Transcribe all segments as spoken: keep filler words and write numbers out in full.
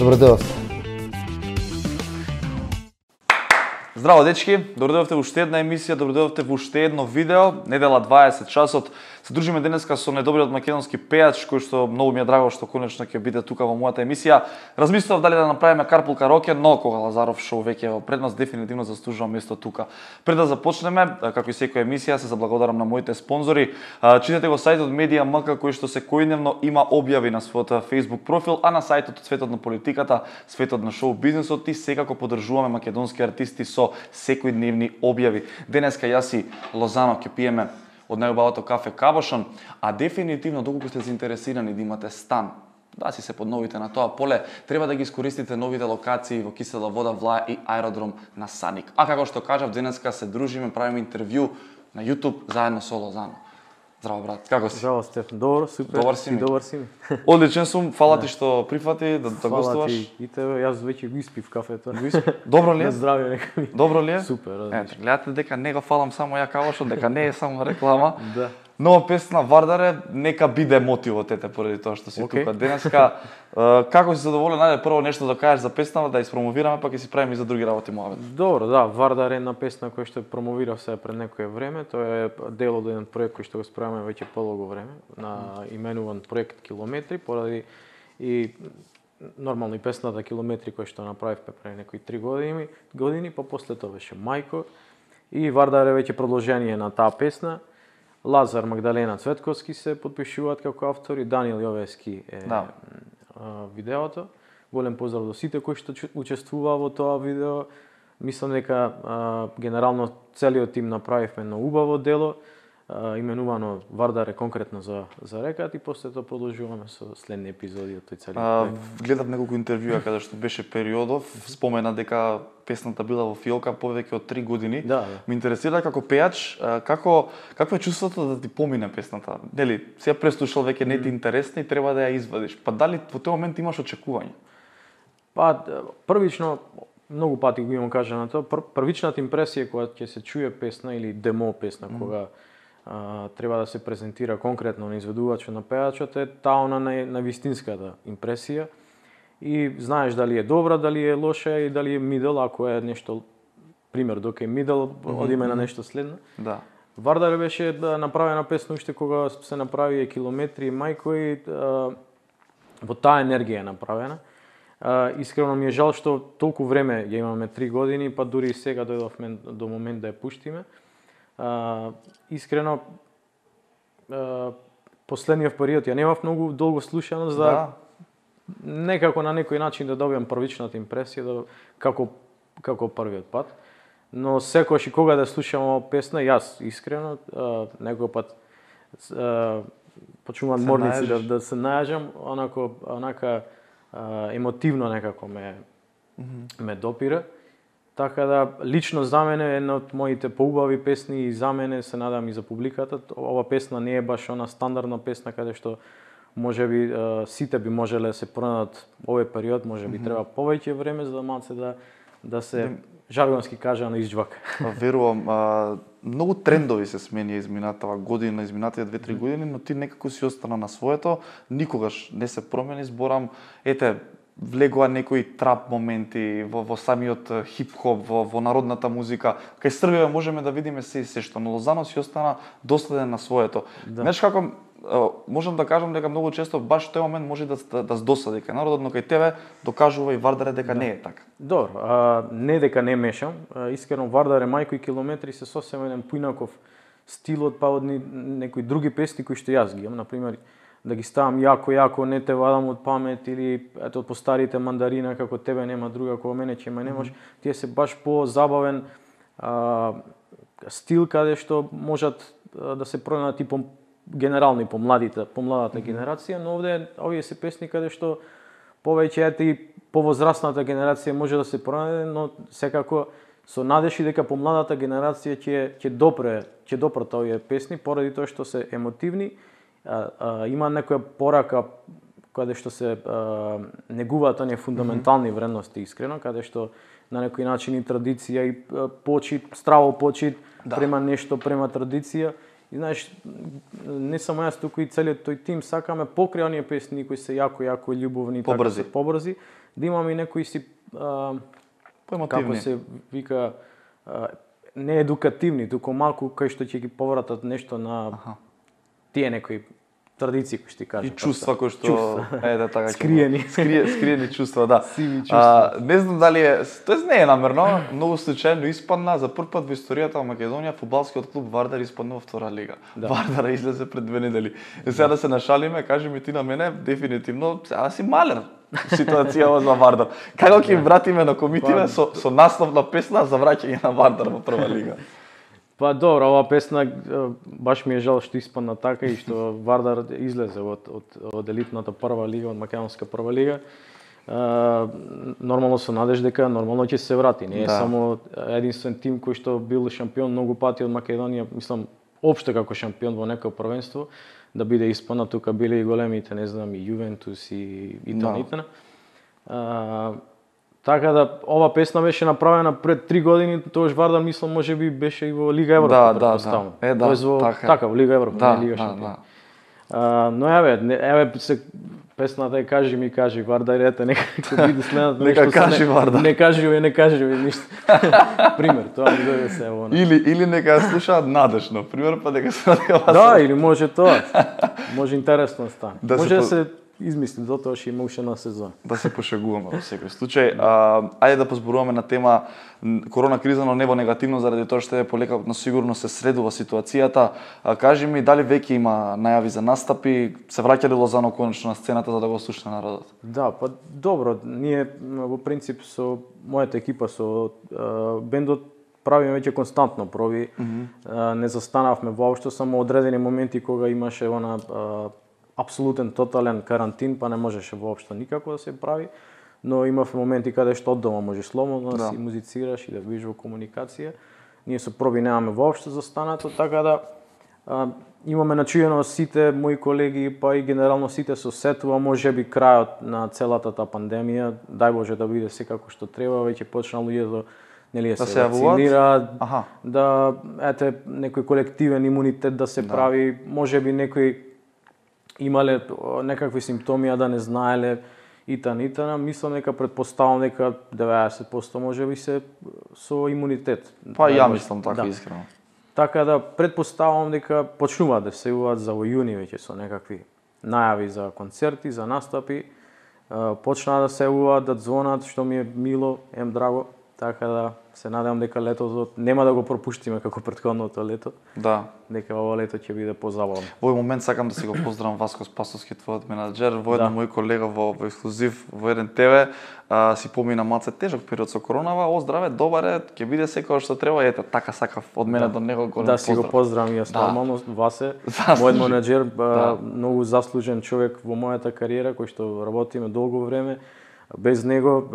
Добро дојдовте. Здраво дечки, добро дојдовте во уште една емисија, добро дојдовте во уште едно видео, недела дваесет часот. Се дружиме денеска со најдобриот македонски пејач, кој што многу ми е драго што конечно ќе биде тука во мојата емисија. Размислував дали да направиме карпул кароке, но кога Лазаров шоу веќе е пред нас, дефинитивно заслужува место тука. Пред да започнеме, како и секоја емисија, се заблагодарам на моите спонзори. Читате го сајтот Медија точка ем ка кој што секојдневно има објави на својот Facebook профил, а на сајтот Светот на политиката, Светот на шоу бизнисот и секако поддржуваме македонски артисти со секојдневни објави. Денеска јас и Лозано ќе пиеме од најубавото кафе Кабошон, а дефинитивно доколку сте заинтересирани да имате стан, да си се подновите на тоа поле, треба да ги искористите новите локации во Кисела вода, Влаја и аеродром на Саник. А како што кажав, денеска се дружиме, правиме интервју на YouTube заедно со Лозано. Здраво брат, како си? Здраво Стефан, добро, супер. Добар си ми. Добар си ми. Одличен сум, фала ти што прифати да, да гостуваш. Фала ти и тебе, јас веќе го испив кафето. Добро ли е? На здравје нека ми. Добро ли е? Супер, одлично. Ето, гледате дека не го фалам само ја Кабошон, дека не е само реклама. Да. Нова песна Вардаре, нека биде мотивот ете поради тоа што си okay. тука денеска. Како си задоволен? Ајде прво нешто да кажеш за песнава, да испромовираме, па ќе си правиме и за други работи муавет. Добро, да, Вардар е една песна која што промовирав сега пред некое време. Тоа е дел од еден проект кој што го справаме веќе подолго време, на именуван проект Километри, поради и нормално и песната Километри која што направивме пред некои три години, години, па после тоа беше Мајко и Вардар е веќе продолжение на таа песна. Лазар, Магдалена Цветковски се подпишуваат како автори, Даниел Јовески е да. видеото. Голем поздрав до сите кои што учествуваа во тоа видео. Мислам дека а, генерално целиот тим направивме едно убаво дело, а, именувано Вардар е конкретно за за рекат и после тоа продолжуваме со следни епизоди од тој целиот проект. Гледав неколку интервјуа каде што беше Периодов, спомена дека песната била во фиолка повеќе од три години. Да, да. Ме интересира како пејач, како какво е чувството да ти помине песната? Нели, си ја преслушал веќе не ти интересна и треба да ја извадиш. Па дали во тој момент имаш очекување? Па првично многу пати го имам кажа на тоа, пр првичната импресија кога ќе се чуе песна или демо песна mm. кога а, треба да се презентира конкретно на изведувачот на пејачот е таа она на, на вистинската импресија. И знаеш дали е добра, дали е лоша и дали е мидл, ако е нешто пример док е мидл, mm-hmm. одиме на нешто следно. Да. Вардар беше да направена песна уште кога се направи Километри и Мајко и а, во таа енергија е направена. А, искрено ми е жал што толку време ја имаме три години, па дури и сега дојдовме до момент да ја пуштиме. А, искрено а, последниот период ја немав многу долго слушано за да. Некако на некој начин да добиам првичната импресија да, како како првиот пат. Но секогаш и кога да слушам песна, јас искрено а, некој пат а, почнувам морници да, да се најажам, онако онака а, емотивно некако ме mm -hmm. ме допира. Така да лично за мене е една од моите поубави песни и за мене се надам и за публиката. Ова песна не е баш она стандардна песна каде што може би сите би можеле да се пронајдат овој период, може би mm -hmm. треба повеќе време за да малце да да се жаргонски кажано изџвака. Верувам, а, многу трендови се сменија изминатава година, изминатите две-три години, но ти некако си остана на своето, никогаш не се промени, зборам, ете, влегоа некои трап моменти во, во самиот хип-хоп, во, во народната музика. Кај Србија можеме да видиме се и се што, но Лозано си остана доследен на своето. Да. Знаеш како, можам да кажам дека многу често баш тој момент може да да, да досади кај народот, но кај тебе докажува и Вардар дека да. не е така. Добро, а, не дека не мешам, а, искрено Вардар е Мајко и Километри се сосема еден поинаков стилот па од некои други песни кои што јас ги имам, на пример да ги ставам јако јако не те вадам од памет или ето по старите Мандарина како тебе нема друга кога мене ќе ме немаш, mm -hmm. тие се баш по-забавен а, стил каде што можат а, да се пронајдат и по генерално и по младите, по младата mm -hmm. генерација, но овде овие се песни каде што повеќе ете и повозрасната генерација може да се пронајде, но секако со надежи дека по младата генерација ќе ќе допре, ќе допрат овие песни поради тоа што се емотивни. А, а, има некоја порака каде што се а, негуваат оние фундаментални вредности искрено, каде што на некој начин и традиција и почит, здраво почит да. према нешто, према традиција. И знаеш, не само јас, туку и целиот тој тим сакаме покрај оние песни кои се јако, јако љубовни, побрзи. Така, побрзи, да имаме и некои си а, како се вика а, не едукативни, туку малку кај што ќе ги повратат нешто на Аха. Тие некои традиции кои што ти кажам. И чувства кои што чувства. е да така скриени, скрие скриени чувства, да. Сиви чувства. А, не знам дали е, тоест не е намерно, многу случајно испадна за прв пат во историјата на Македонија фудбалскиот клуб Вардар испадна во втора лига. Да. Вардар излезе пред две недели. И сега да се нашалиме, кажи ми ти на мене, дефинитивно, сега си малер ситуација за Вардар. Како ќе им вратиме на комитиве со со наслов на песна за враќање на Вардар во прва лига? Па добро, ова песна баш ми е жал што испадна така и што Вардар излезе од од од елитната прва лига, од македонска прва лига. Uh, нормално со надеж дека нормално ќе се врати. Не е да. Само единствен тим кој што бил шампион многу пати од Македонија, мислам општо како шампион во некој првенство, да биде испадна, тука биле и големите, не знам, и Јувентус и и тоа итн. Uh, така да ова песна беше направена пред три години, тоаш Вардар мислам можеби беше и во Лига Европа, да, да, да. Е, да, во, така, така, во Лига Европа, да, не Лига да, Шампион. Да. Uh, но еве, не, еве се песната е кажи ми кажи Вардар, ете нека биде следната нека нешто кажи не, Вардар. Не кажи ви, не кажи ви ништо. Пример, тоа ми дојде се ево. Или или нека слушаат надежно, пример па дека се одела. Да, или може тоа. Може интересно да стане. Да може се да по... се измисли, дотоа ќе има уште една сезона. Да се пошегуваме во секој случај. А, ајде да позборуваме на тема корона криза, но не во негативно, заради тоа што е полека, но сигурно се средува ситуацијата. А, кажи ми, дали веќе има најави за настапи? Се враќа ли Лозано конечно на сцената за да го слуша народот? Да, па добро, ние во принцип со мојата екипа со а, бендот правиме веќе константно проби. Mm-hmm. а, не застанавме воопшто, само одредени моменти кога имаше она а, апсолутен тотален карантин, па не можеше воопшто никако да се прави, но имав моменти каде што од дома можеш слободно да, да си музицираш и да бидеш во комуникација. Ние со проби немаме воопшто застанато, така да а, имаме начуено сите мои колеги, па и генерално сите со сетува, можеби крајот на целата таа пандемија, дај Боже да биде секако што треба, веќе почнаа луѓето нели да се вакцинираат, да ете некој колективен имунитет да се да. прави, можеби некој имале некакви симптоми, а да не знаеле итан итана, мислам дека предпоставам дека деветдесет проценти можеби се со имунитет. Па ја мислам така да. Искрено. Така да предпоставам дека почнуваат да се јавуваат за во јуни веќе со некакви најави за концерти, за настапи, почнаа да се јавуваат, да звонат, што ми е мило, ем драго. Така да се надевам дека летото нема да го пропуштиме како претходното лето. Да. Дека ова лето ќе биде позабавно. Во овој момент сакам да си го поздравам Васко Спасовски, твојот менаџер, во еден да. мој колега во, во ексклузив во еден те ве, а, си помина малце тежок период со коронава. О, здраве, добар е, ќе биде секој што треба. Ете, така сакав од мене да. до него голем да, поздрав. Да си го поздравам јас да. нормално, Васе, мојот менаџер, да. многу заслужен човек во мојата кариера, кој што работиме долго време. Без него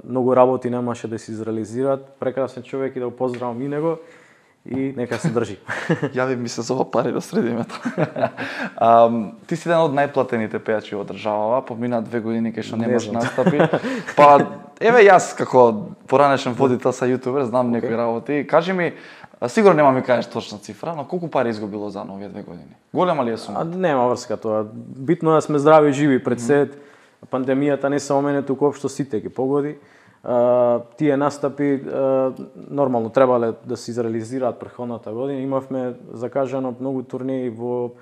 многу работи немаше да се изреализираат. Прекрасен човек и да го поздравам и него и нека се држи. Јави ми се за ова пари да средиме тоа. um, ти си еден од најплатените пејачи во државава, помина две години кај што немаш не настапи. Па еве јас како поранешен водител са јутубер, знам okay. некои работи. Кажи ми, сигурно нема ми кажеш точна цифра, но колку пари изгубило за овие две години? Голема ли е сума? Нема врска тоа. Битно е да сме здрави и живи пред се. Mm. Пандемијата не само мене, туку општо сите ги погоди. А, тие настапи а, нормално требале да се изреализираат претходната година. Имавме закажано многу турнеи во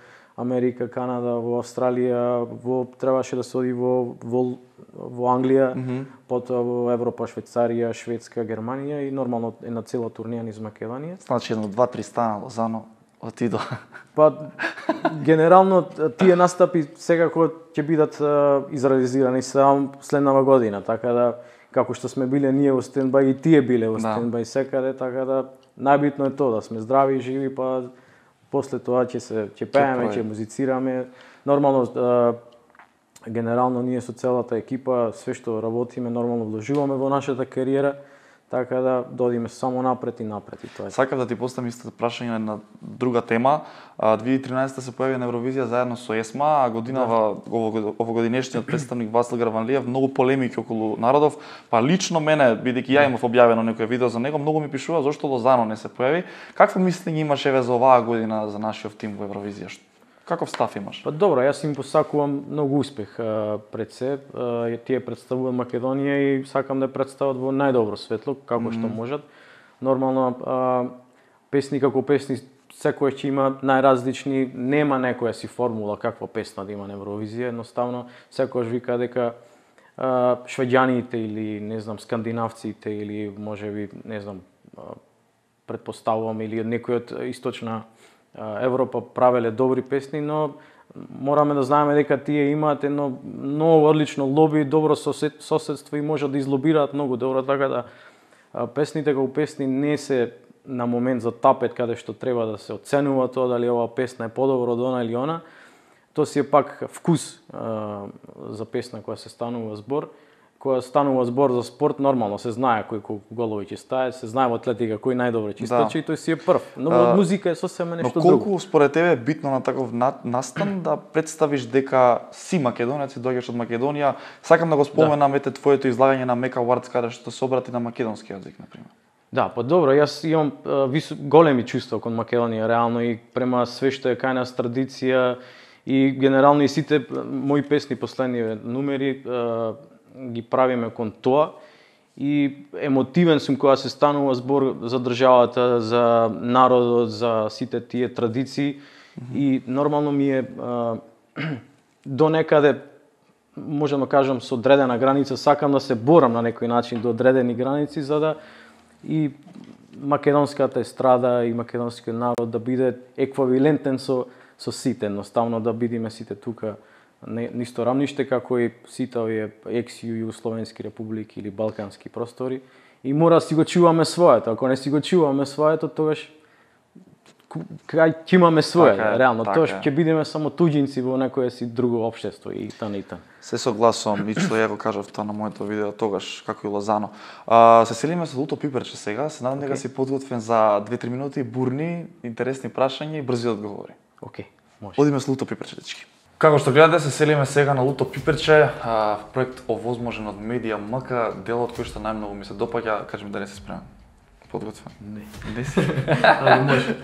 Америка, Канада, во Австралија, во требаше да се оди во во, во Англија, mm -hmm. потоа во Европа, Швајцарија, Шведска, Германија и нормално една цела турнеја низ Македонија. Значи едно два-три стана Лозано отидо. Па генерално тие настапи секако ќе бидат изреализирани само следнава година, така да како што сме биле ние во стендбај и тие биле во стендбај секаде, така да најбитно е тоа да сме здрави и живи, па после тоа ќе се ќе пееме, ќе музицираме. Нормално генерално ние со целата екипа све што работиме нормално вложуваме во нашата кариера. Така да додиме само напред и напред и тоа е. Сакав да ти поставам истото прашање на друга тема. две илјади и тринаесетта се појави на Евровизија заедно со ЕСМА, а годинава да. овогодинешниот представник Васил Граванлиев многу полемики околу народов, па лично мене, бидејќи ја имав објавено некој видео за него, многу ми пишува зошто Лозано не се појави. Какво мислење имаш еве за оваа година за нашиот тим во Евровизија? Каков став имаш? Па добро, јас им посакувам многу успех а, пред се. А, тие представуваат Македонија и сакам да ја представат во најдобро светло, како mm -hmm. што можат. Нормално, а, песни како песни, секој ќе има најразлични, нема некоја си формула каква песна да има на Евровизија, едноставно секојаш вика дека а, швеѓаните или не знам скандинавците или можеби не знам а, предпоставувам или некој од источна Европа правеле добри песни, но мораме да знаеме дека тие имаат едно многу одлично лоби, добро сосед, соседство и можат да излобираат многу добро, така да песните како песни не се на момент за тапет каде што треба да се оценува тоа дали оваа песна е подобро од она или она. Тоа си е пак вкус а, за песна која се станува збор. Кога станува збор за спорт, нормално се знае кој колку голови ќе стае, се знае во атлетика кој најдобро ќе истрчи и тој си е прв. Но во музика е сосема нешто друго. Но колку друго. Според тебе е битно на таков настан да представиш дека си македонец и доаѓаш од Македонија? Сакам да го споменам ете твоето излагање на Мека Awards каде што се обрати на македонски јазик на пример. Да, па добро, јас имам а, висо, големи чувства кон Македонија реално и према све што е кај нас традиција и генерално и сите мои песни последни numери а, ги правиме кон тоа и емотивен сум кога се станува збор за државата, за народот, за сите тие традиции mm-hmm. и нормално ми е а, до некаде можам да кажам со одредена граница сакам да се борам на некој начин до одредени граници за да и македонската естрада и македонскиот народ да биде еквивалентен со со сите, едноставно да бидиме сите тука на исто рамниште како и сите овие екс-југословенски републики или балкански простори и мора да си го чуваме своето. Ако не си го чуваме своето, тогаш кај ќе имаме свое, така, реално така. Тоа ќе бидеме само туѓинци во некое си друго општество и тана и тана. Се согласувам, лично ја го кажав тоа на моето видео тогаш како и Лозано. А, се селиме со Луто Пиперче сега, се надам дека okay. си подготвен за две-три минути бурни, интересни прашања и брзи одговори. Океј, okay, може. Одиме со Луто Пиперче, дечки. Како што гледате, се селиме сега на Луто Пиперче, а, проект овозможен од Медија МК, делот кој што најмногу ми се допаѓа, кажи ми дали си спремен. Подготвен? Не. Не си? Али може.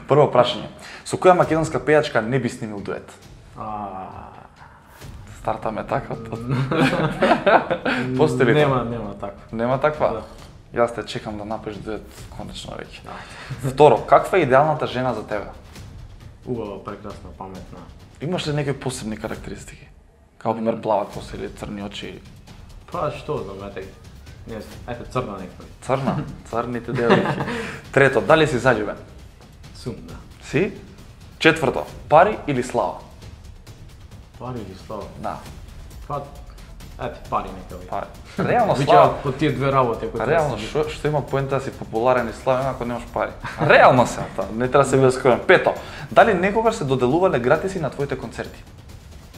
Прво прашање. Со која македонска пејачка не би снимил дует? А... Стартаме така? Постои ли нема, нема таква. Нема таква? Да. Јас те чекам да направиш дует конечно веќе. Да. Второ, каква е идеалната жена за тебе? Убава, прекрасна, паметна. Имаш ли некои посебни карактеристики? Као пример плава коса или црни очи? Па што знам, ете. Не знам, ете црна некој. Црна? Црните девојки. Трето, дали си заљубен? Сум, да. Си? Четврто, пари или слава? Пари или слава? Да. Па, ете, пари нека ви. Пари. Реално слава. По тие две работи кои реално што што има поента да си популарен и славен ако немаш пари. Реално се тоа, не треба да се биде скроен. Пето, дали некогаш се доделувале гратиси на твоите концерти?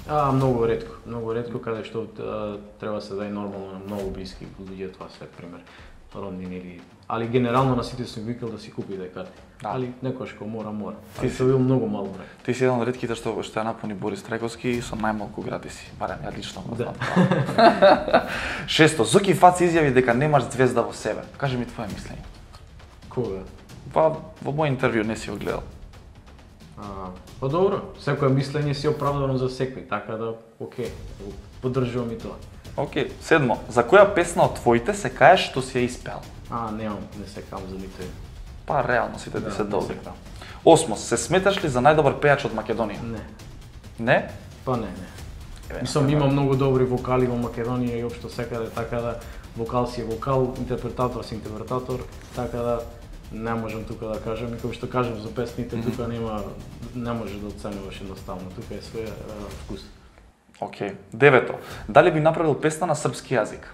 А, многу ретко, многу ретко каде што а, треба се дај нормално на многу блиски луѓе, тоа се пример роднини или али генерално на сите сум викал да си купите карти. Да. Али некош ко мора мора. Ти се бил многу мал број. Ти си еден од ретките што што ја напуни Борис Трајковски со најмалку гратиси, барем ја лично го знам. Да. Шесто, Зоки Фац изјави дека немаш звезда во себе. Кажи ми твое мислење. Кога? Па во мој интервју не си го гледал. А, па добро, секое мислење си оправдано за секој, така да, окей, поддржувам и тоа. Окей, седмо, за која песна од твоите се каеш што си ја испеал? А, немам, не се кам за нитој. Па реално сите ти да, се добри. Осмо, се сметаш ли за најдобар пејач од Македонија? Не. Не? Па не, не. Мислам, има многу добри вокали во Македонија и општо секаде, така да вокал си е вокал, интерпретатор си интерпретатор, така да не можам тука да кажам, и како што кажам за песните, mm-hmm. тука нема, не може да оценуваш едноставно, тука е све uh, вкус. Океј. Okay. Девето. Дали би направил песна на српски јазик?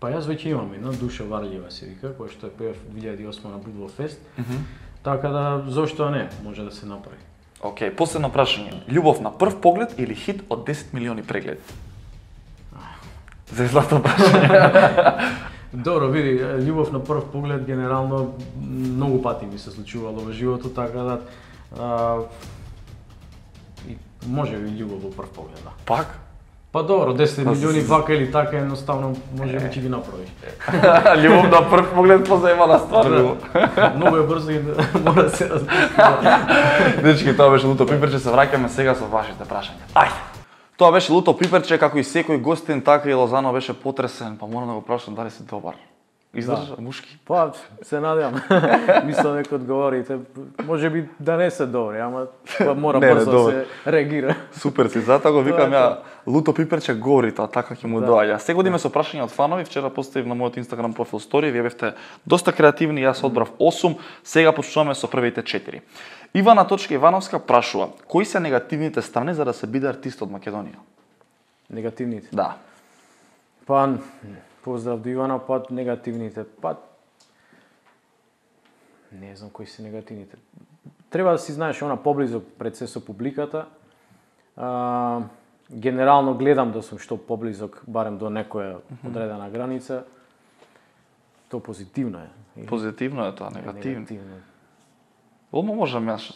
Па јас веќе имам една Душа Варлјева се вика, која што е пеев две илјади и осма на Будво Фест. Mm -hmm. Така да зошто не, може да се направи. Океј, okay. Последно прашање. Љубов на прв поглед или хит од десет милиони прегледи? За злато прашање. Добро, види, љубов на прв поглед генерално многу пати ми се случувало во животот, така да а, и може би љубов во прв поглед, да. Пак? Па добро, десет милиони вака или така едноставно може би ќе ги направиш. Љубов на прв поглед позаемана ствар. Многу е брзо и мора да се разбира. Дечки, тоа беше Луто Пиперче, се враќаме сега со вашите прашања. Ајде. Тоа беше Луто Пиперче, како и секој гостин, така и Лозано беше потресен, па морам да го прашам дали си добар. Издржа, да. Мушки? Па, се надевам. Мислам дека одговорите. Може би да не се добри, ама па мора не, брзо да се реагира. Супер си, затоа го викам ја Луто Пиперче говори тоа, така ќе му да. Доаѓа. Сега одиме со прашања од фанови, вчера поставив на мојот Инстаграм профил стори, вие бевте доста креативни, јас одбрав осум, сега почнуваме со првите четири. Ивана Точка Ивановска прашува, кои се негативните страни за да се биде артист од Македонија? Негативните? Да. Па, поздрав до Ивана, па негативните, па не знам кои се негативните. Треба да си знаеш она поблизо пред се со публиката. А, генерално гледам да сум што поблизок, барем до некоја одредена граница. Тоа позитивно е. Позитивно е тоа, негативно. Негативно. Олмо можам јас.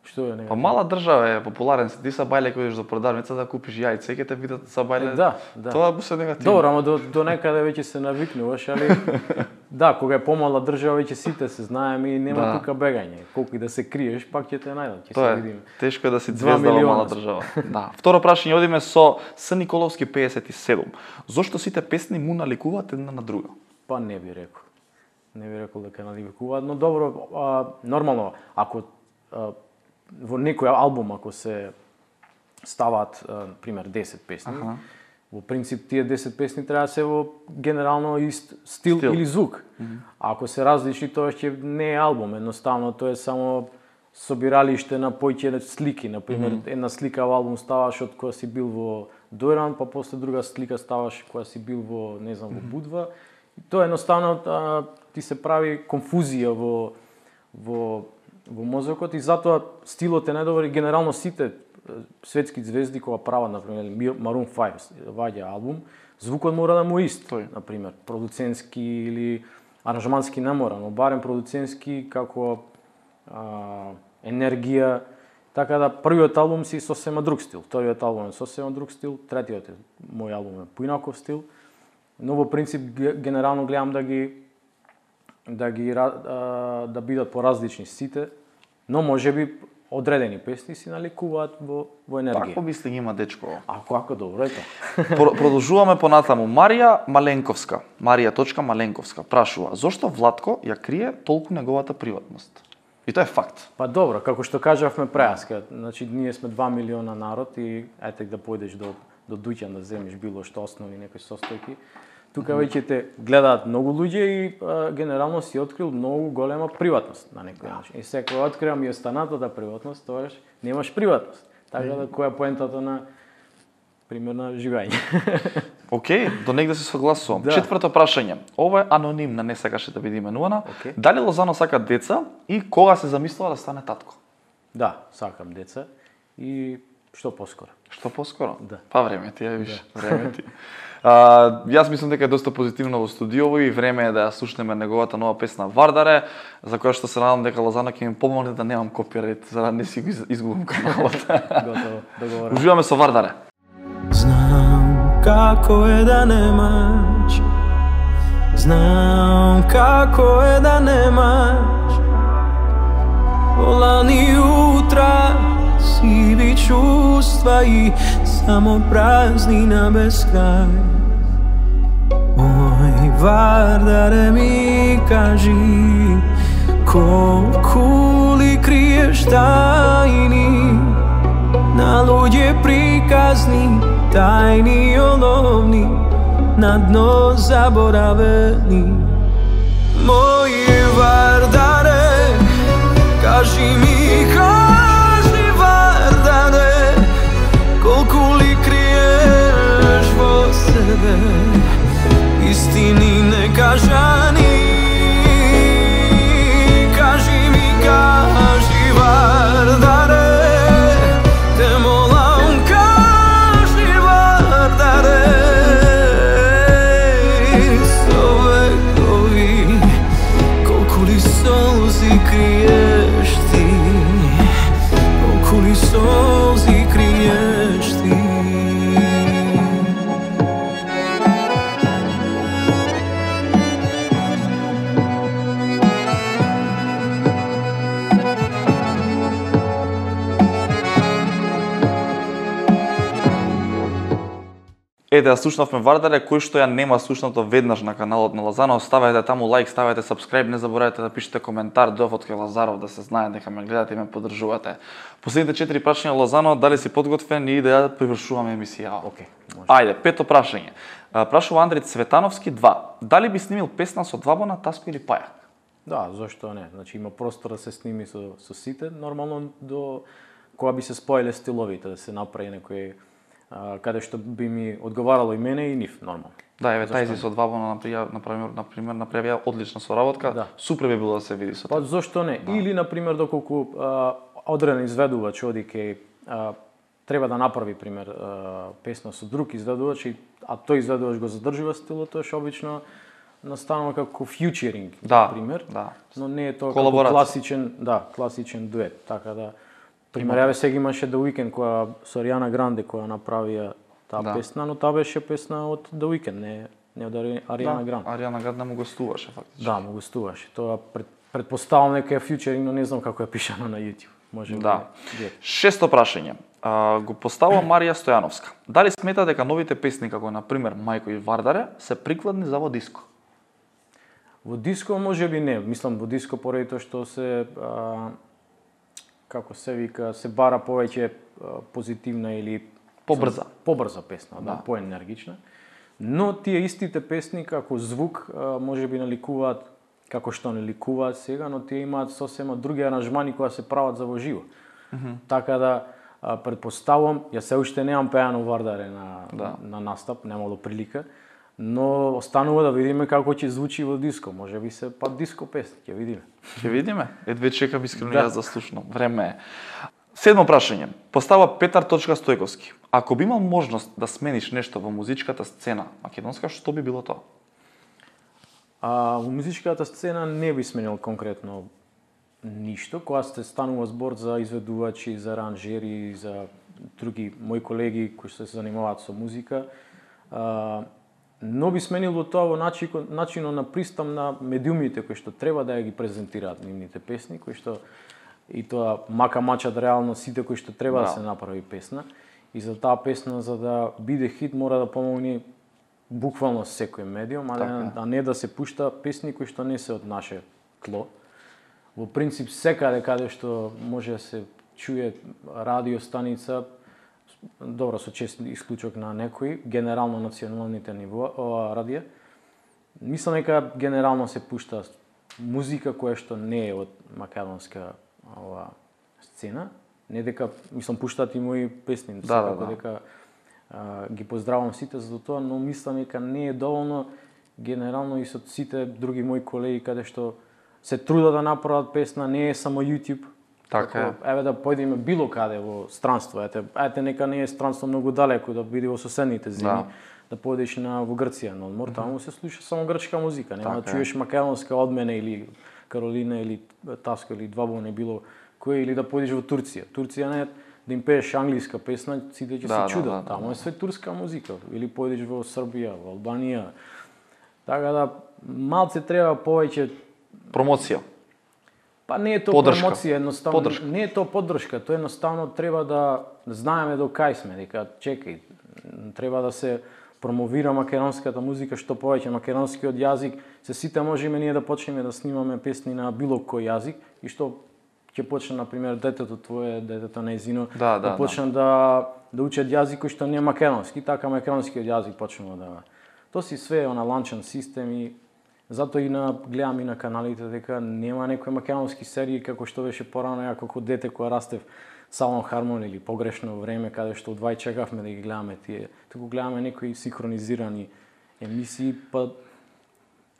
Што е негативно? Па мала држава е, популарен си. Ти са бајле кој идеш до продавница да купиш јајце, ќе те видат са бајле. Е, да, да. Тоа се негативно. Добро, ама до, до некаде веќе се навикнуваш, али да, кога е помала држава веќе сите се знаеме и нема да. тука бегање. Колку и да се криеш, пак ќе те најдат, ќе Тоа се е. видиме. Тешко е да си звезда во мала држава. Да. Второ прашање одиме со С Николовски педесет и седум. Зошто сите песни му наликуваат една на друга? Па не би рекол. Не би рекол дека наликуваат, но добро, а, нормално, ако а, во некој албум ако се ставаат, а, пример, десет песни, ага. Во принцип тие десет песни треба да се во генерално ист стил, стил. Или звук. Mm-hmm. Ако се различни, тоа ќе не е албум, едноставно тоа е само собиралиште на појќе слики, на пример, mm-hmm. една слика во албум ставаш од кога си бил во Дојран, па после друга слика ставаш кога си бил во, не знам, во Будва. И тоа едноставно а, ти се прави конфузија во во во мозокот и затоа стилот е најдобар и генерално сите светски звезди кога прават, например, Maroon five ваѓа албум, звукот мора да му ист, например, продуцентски или аранжмански не мора, но барем продуцентски како а, енергија, така да првиот албум си сосема друг стил, вториот албум е сосема друг стил, третиот е мој албум е поинаков стил, но во принцип генерално гледам да ги да ги а, да бидат поразлични сите, но можеби одредени песни си наликуваат во во енергија. Такво мисли има дечко. Ако ако добро е тоа. Продолжуваме понатаму. Марија Маленковска, Марија точка Маленковска прашува: зошто Владко ја крие толку неговата приватност? И тоа е факт. Па добро, како што кажавме преаска, значи ние сме два милиона народ и ете да појдеш до до Дуќан да земеш било што основни некои состојки. Тука веќе те гледаат многу луѓе и а, генерално си открил многу голема приватност на некој начин. И секој открива ми останатата приватност, тоаш немаш приватност. Така да која е поентата на примерно живење. Океј, okay, до негде се согласувам. Да. Четврто прашање. Ова е анонимна, не сакаше да биде именувана. Okay. Дали Лозано сака деца и кога се замислува да стане татко? Да, сакам деца и што поскоро. Што поскоро? Да. Па време ти, ја виш, да. Време ти. А, јас мислам дека е доста позитивно во студиово и време е да ја слушнеме неговата нова песна Вардаре, за која што се надам дека Лозано ќе ми помогне да немам копирайт, за да не си го изгубам каналот. Готово, договорено. Уживаме со Вардаре. Знам како е да немаш, знам како е да немаш, лани утра сиви чувства и само празнина без крај. Мој Вардаре ми кажи, колку ли криеш тајни, на луѓе приказни, тајни оловни, на дно заборавени. Мој Вардаре, кажи ми, кажи Вардаре, колку ли криеш во себе, истини некажани. Кажи ми, кажи Вардаре, те молам, кажи Вардаре, со векови, колку ли солзи криеш ти, колку ли солзи криеш ти. Ете, ја слушнавме Вардаре, кој што ја нема слушнато веднаш на каналот на Лазано, ставете таму лайк, ставете subscribe, не заборавајте да пишете коментар, дојдов од кај Лазаров да се знае дека ме гледате и ме поддржувате. Последните четири прашања Лазано, дали си подготвен и да ја привршуваме емисија? Океј, може. Ајде, пето прашање. Прашува Андри Цветановски два. Дали би снимил песна со Двабона, Таско или Пајак? Да, зошто не? Значи има простор да се сними со, со сите, нормално до кога би се споеле стиловите, да се направи некој а, каде што би ми одговарало и мене и нив, нормално. Да, еве тајзи со Двабона например, например, например направија одлична соработка. Да. Супер би било да се види со Па тоа. зошто не? Да. Или на пример доколку а, одреден изведувач оди кај а, треба да направи пример а, песна со друг изведувач, и, а тој изведувач го задржува стилот, тоа што обично настанува како фьючеринг, Да, пример, да. но не е тоа како Колаборација. класичен, да, класичен дует, така да пример еве сега имаше The Weeknd која со Ариана Гранде која направија таа Да. песна, но таа беше песна од The Weeknd, не не од Ари- Ариана Да, Гранде. Ариана Гранде му гостуваше фактично. Да, му гостуваше. Тоа пред, предпоставам дека е фьючеринг, но не знам како е пишано на YouTube. Може Да. би. Шесто прашање. А, го поставува Марија Стојановска. Дали смета дека новите песни како на пример Мајко и Вардаре се прикладни за во диско? Во диско може би не, мислам во диско поради тоа што се а, како се вика, се бара повеќе а, позитивна или Побрза. побрза песна, да, Да. поенергична. Но тие истите песни како звук а, може би наликуваат како што не ликуваат сега, но тие имаат сосема други аранжмани кои се прават за во живо. Mm -hmm. Така да а, предпоставувам, ја се уште немам пеано Вардаре на, Да. на настап, немало прилика, но останува да видиме како ќе звучи во диско. Може би се па диско песни, ќе видиме. Ќе видиме. Едве чекам искрено Да. јас да слушнам. Време е. Седмо прашање. Постава Петар Точка Стојковски. Ако би имал можност да смениш нешто во музичката сцена македонска, што би било тоа? А во музичката сцена не би сменил конкретно ништо, кога сте станува збор за изведувачи, за аранжери, за други мои колеги кои се занимаваат со музика. А, но би сменил во тоа во начинот, начинот на пристап на медиумите кои што треба да ја ги презентираат нивните песни, кои што и тоа мака мачат реално сите кои што треба да, Да. се направи песна. И за таа песна, за да биде хит, мора да помогне буквално секој медиум, а, Така не, е. а не да се пушта песни кои што не се од наше тло. Во принцип, секаде каде што може да се чуе радиостаница, добро со чест исклучок на некои, генерално националните ниво, о, радија, мислам дека генерално се пушта музика која што не е од македонска ова сцена, не дека, мислам, пуштаат и мои песни, Да, секако да, да. дека а, ги поздравувам сите за тоа, но мислам дека не е доволно генерално и со сите други мои колеги каде што се трудат да направат песна, не е само YouTube. Така е. Еве да појдеме било каде во странство, ете, ете нека не е странство многу далеко, да биде во соседните земји, Да. да појдеш на во Грција, но мора таму се слуша само грчка музика, нема да Така е. чуеш македонска од мене или Каролина или Таско или Двабон, било кој, или да појдеш во Турција. Турција не е да им пееш англиска песна, сите ќе Да, се да, чудат. да, да, Таму да. е све турска музика. Или појдеш во Србија, во Албанија. Така да малце треба повеќе. Промоција. Па не е тоа Поддршка. промоција, едноставно Поддршка. не е тоа поддршка, тоа едноставно треба да знаеме до кај сме, дека чекај, треба да се промовира македонската музика, што повеќе македонскиот јазик, се сите можеме ние да почнеме да снимаме песни на било кој јазик и што ќе почне на пример детето твое, детето нејзино, Да, да, почне да да учат јазик кој што не е македонски, така македонскиот јазик почнува да. Тоа си све на ланчен систем и затоа и на гледам и на каналите дека нема некои македонски серии како што беше порано, ја како дете кога растев Салон Хармон или Погрешно време, каде што одвај чекавме да ги гледаме тие. Туку гледаме некои синхронизирани емисии, па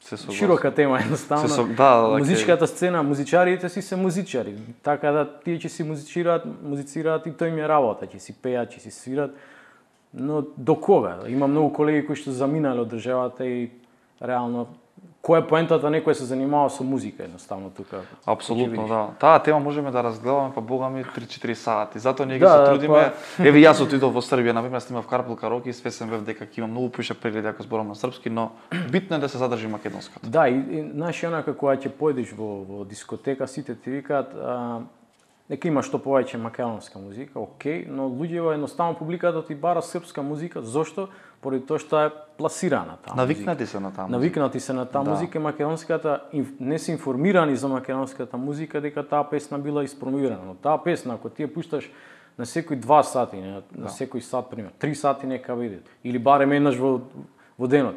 Се согласувам. широка тема едноставно. Се со- да, да, Музичката сцена, музичарите си се музичари, така да тие ќе си музицираат, музицираат и тој им е работа, ќе си пеат, ќе си свират. Но до кога? Има многу колеги кои што заминале од државата и реално која е поентата некој се занимава со музика едноставно тука. Апсолутно, да. Таа тема можеме да разгледаме, па бога ми три-четири сати. Затоа ние ги Да, се да, трудиме. Еве јас отидов во Србија, на пример, снимав Карпел караоке и свесен бев дека ќе имам многу поише прегледи ако зборам на српски, но битно е да се задржи македонското. Да, и, и знаеш, онака кога ќе појдеш во, во дискотека, сите ти викаат, а, нека има што повеќе македонска музика, окей, но луѓето едноставно публиката ти бара српска музика, зошто? Поради тоа што е пласирана таа Навикнати музика. се на таа музика. Навикнати се на таа Да. музика, македонската не се информирани за македонската музика дека таа песна била испромовирана. Но таа песна ако ти ја пушташ на секој два сати, на, на секој сат пример, три сати нека биде или барем еднаш во во денот.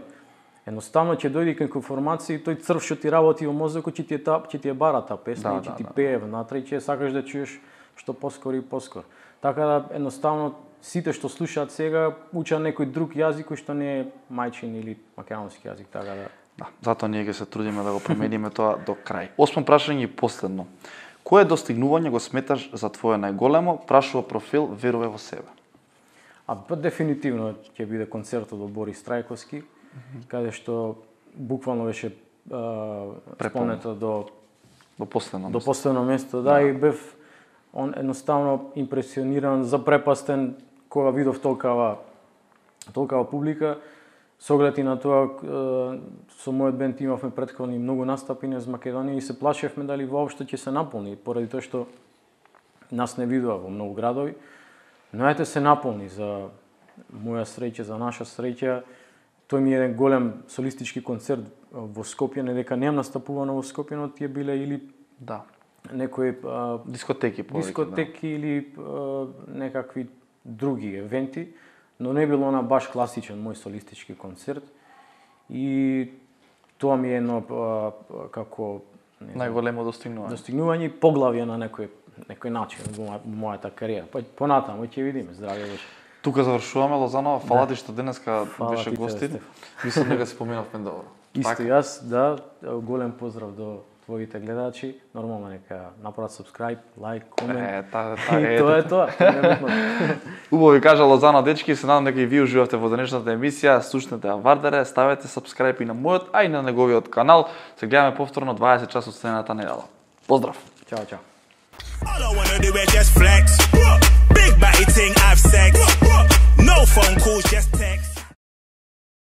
Едноставно ќе дојде кај информација и тој црв што ти работи во мозокот ќе ти е таа ќе ти е бара таа песна Да, и ќе да, ти да. пее внатре и ќе сакаш да чуеш што поскоро и поскоро. Така да едноставно сите што слушаат сега учат некој друг јазик кој што не е мајчин или македонски јазик, така да. Да, затоа ние ќе се трудиме да го промениме тоа до крај. Осмо прашање и последно. Кое достигнување го сметаш за твое најголемо? Прашува профил Веруве во себе. А па дефинитивно ќе биде концертот од Борис Трајковски, каде што буквално беше спомнето до До последно. до последно место, да, и бев он едноставно импресиониран, запрепастен кога видов толкава толкава публика. Со оглед и на тоа, е, со мојот бенд имавме претходни многу настапи низ Македонија и се плашевме дали воопшто ќе се наполни, поради тоа што нас не видува во многу градови. Но ете се наполни, за моја среќа, за наша среќа. Тој ми е еден голем солистички концерт во Скопје, не дека немам настапувано во Скопје, но тие биле или Да. некои а, Дискотеки повеќе. дискотеки или а, некакви други евенти, но не било на баш класичен мој солистички концерт. И тоа ми е едно а, како не знам, Најголемо достигнување. достигнување и поглавје на некој некој начин во моја- мојата кариера. Па понатаму ќе видиме, здравје беше. Тука завршуваме Лозанова. Фала ти што денеска Фала беше ти, гостин. Стеф. Мислам дека се поминавме добро. Исто Така? јас, да, голем поздрав до твоите гледачи. Нормално нека направат subscribe, лайк, комент. Е, та, та, И е, тоа е тоа. Небитно. Убаво ви кажа Лозано дечки, се надам дека и вие уживавте во денешната емисија. Слушнете ја Вардаре, ставете subscribe и на мојот, а и на неговиот канал. Се гледаме повторно дваесет часот следната недела. Поздрав! Чао, чао. All I wanna do is just flex. Big body ting, have sex. No phone calls, just text.